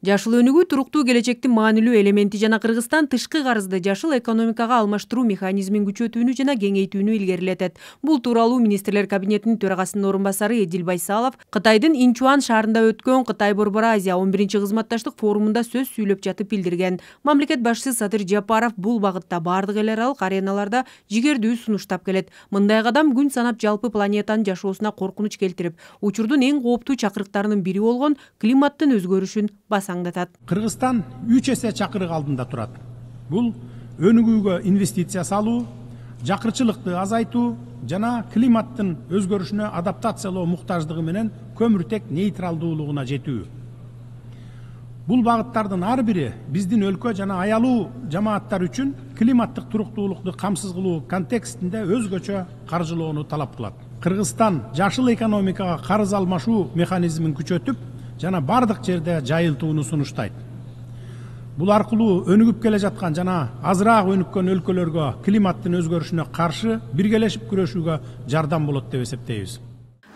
Жашыл өнүгүү туруктуу келечектин маанилүү элементи жана Кыргызстан тышкы карызды жашыл экономикага алмаштыруу механизмин күчөтүүнү жана кеңейтүүнү илгерилетет. Бул тууралуу министрлер кабинетинин төрагасынын орун басары Эдил Байсалов Кытайдын Инчуан шаарында өткөн Кытай-Борбор Азия 11-чи кызматташтык форумунда сөз сүйлөп жатып билдирген. Мамлекет башчысы Садыр Жапаров бул багытта бардык эл аралык ареналарда жигердүү сунуштап келет. Мындай кадам күн санап жалпы планетанын жашоосуна коркунуч келтирип, учурдун эң кооптуу чакырыктарынын бири болгон климаттын өзгөрүшүн басаңдатат. Кыргызстан 3 эсе чакырык алдында турат. Бул өнүгүүгө инвестиция салуу, жакырчылыкты азайтуу жана климаттын өзгөрүшүнө адаптациялоо муктаждыгы менен көмүртек нейтралдуулугуна жетүү. Бул багыттардын ар бири биздин өлкө жана аялуу жамааттар үчүн климаттык туруктуулукту камсыз кылуу контекстинде өзгөчө каржылоону талап кылат. Кыргызстан жашыл экономикага карыз алмашуу механизмин күчөтүп жана бардык жерде жайылтууну сунуштайт. Бул аркылуу өнүгүп келе жаткан жана азыраак өнүккөн өлкөлөргө климаттын өзгөрүшүнө каршы биргелешип күрөшүүгө жардам болот деп эсептейбиз.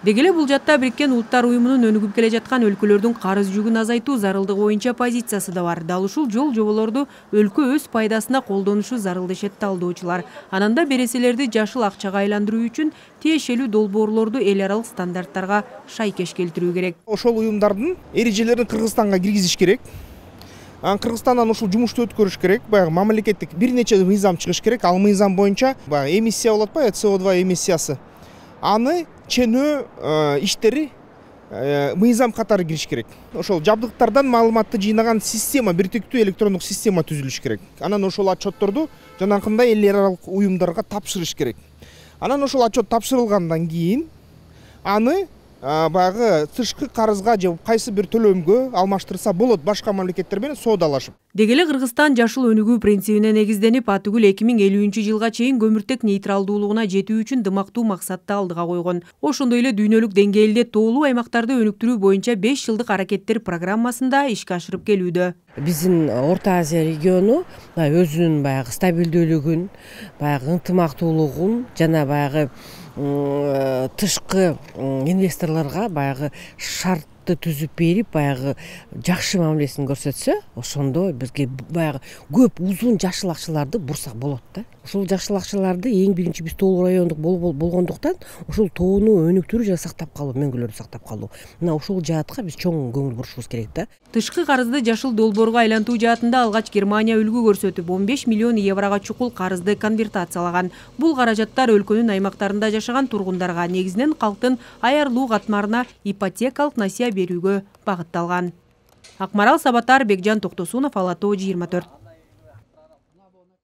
Деги эле бул жатта Бириккен Улуттар уюмунун өнүгүп келе жаткан өлкөлөрдүн карыз жүгүн азайтуу зарылдыгы боюнча позициясы да бар. Дал ушул жол жоболорду өлкө өз пайдасына колдонушу зарыл дешет талдоочулар. Ананда береселерди жашыл акчага айландыруу үчүн тиешелүү долбоорлорду эл аралык стандарттарга шайкеш келтирүү керек. Ошол уюмдардын эрежелерин Кыргызстанга киргизиш керек. Кыргызстандан ушул жумушту өткөрүш керек. Баягы мамлекеттик бир нече мыйзам чыгыш керек. Ал мыйзам боюнча баягы эмиссия болот ба, CO2 эмиссиясы. Аны ченөө иштери мыйзам катары кириш керек. Ошол жабдыктардан маалыматты жыйнаган система, биртиктүү электрондук система түзүлүш керек. Анан ошол отчетторду жанакындай эл аралык уюмдарга тапшырыш керек. Анан ошол отчет тапшырылгандан кийин аны баягы тышкы карызга же кайсы бир төлөмгө алмаштырса болот, башка мамлекеттер менен соодалашып. Деги эле Кыргызстан жашыл өнүгүү принцибине негизденип, атүгүл 2050-жылга чейин көмүртек нейтралдуулугуна жетүү үчүн дымактуу максатты алдыга койгон. Ошондой эле дүйнөлүк деңгээлде тоолуу аймактарды өнүктүрүү боюнча 5 жылдык аракеттер программасында ишке ашырып келүүдө. Биздин Орто Азия региону өзүнүн баягы стабилдүүлүгүн, баягы ынтымактуулугун жана баягы тышкы инвесторлорго баягы шартты түзүп берип, баягы жакшы мамилесин көрсөтсө, ошондо бизге баягы көп узун жашыл акчаларды бурсак болот да. Ушул жашыл акчаларды эң биринчи биз тоолуу райондук болгондуктан ушул тоону өнүктүрүү жана сактап калуу, мөңгүлөрдү сактап калуу. Мына ушул жаатка биз чоң көңүл бурушубуз керек да. Тышкы карызды жашыл долбоорго айлантуу жаатында алгач Германия үлгү көрсөтүп 15 миллион еврого чукул карызды конвертациялаган. Бул каражаттар өлкөнүн аймактарында жашаган тургундарга, негизинен калктын аярлуу катмарына ипотекалык насыя берүүгө багытталган. Акмарал Сабатар, Бекжан Токтосунов, Ала Тоо 24.